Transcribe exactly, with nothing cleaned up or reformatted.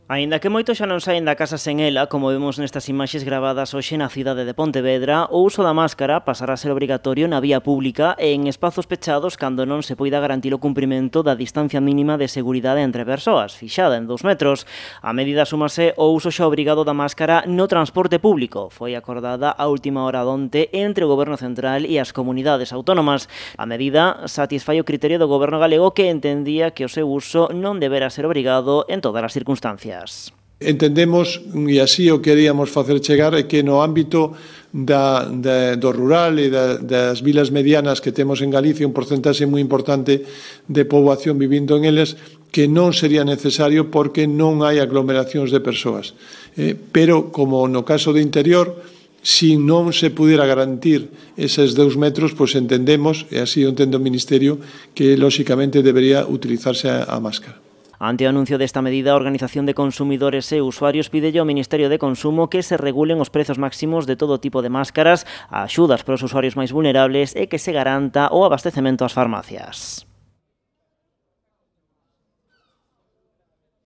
Aínda que moitos xa non saen da casa sen ela, como vemos nestas imaxes gravadas hoxe na cidade de Pontevedra, o uso da máscara pasará a ser obrigatorio na vía pública e en espazos pechados cando non se poida garantir o cumprimento da distancia mínima de seguridade entre persoas, fixada en dous metros. A medida súmase o uso xa obrigado da máscara no transporte público. Foi acordada a última hora donte entre o Goberno Central e as comunidades autónomas. A medida satisfai o criterio do Goberno galego que entendía que o seu uso non debera ser obrigado en todas as circunstancias. Entendemos, e así o queríamos facer chegar, é que no ámbito da, da, do rural e da, das vilas medianas que temos en Galicia, un porcentaxe moi importante de poboación vivindo en eles, que non sería necesario porque non hai aglomeracións de persoas. Eh, pero, como no caso do interior, si non se pudiera garantir eses dous metros, pois entendemos, e así o entende o Ministerio, que lóxicamente debería utilizarse a, a máscara. Ante o anuncio desta medida, a Organización de Consumidores e Usuarios pídelle ao Ministerio de Consumo que se regulen os prezos máximos de todo tipo de máscaras, axudas para os usuarios máis vulnerables e que se garanta o abastecemento ás farmacias.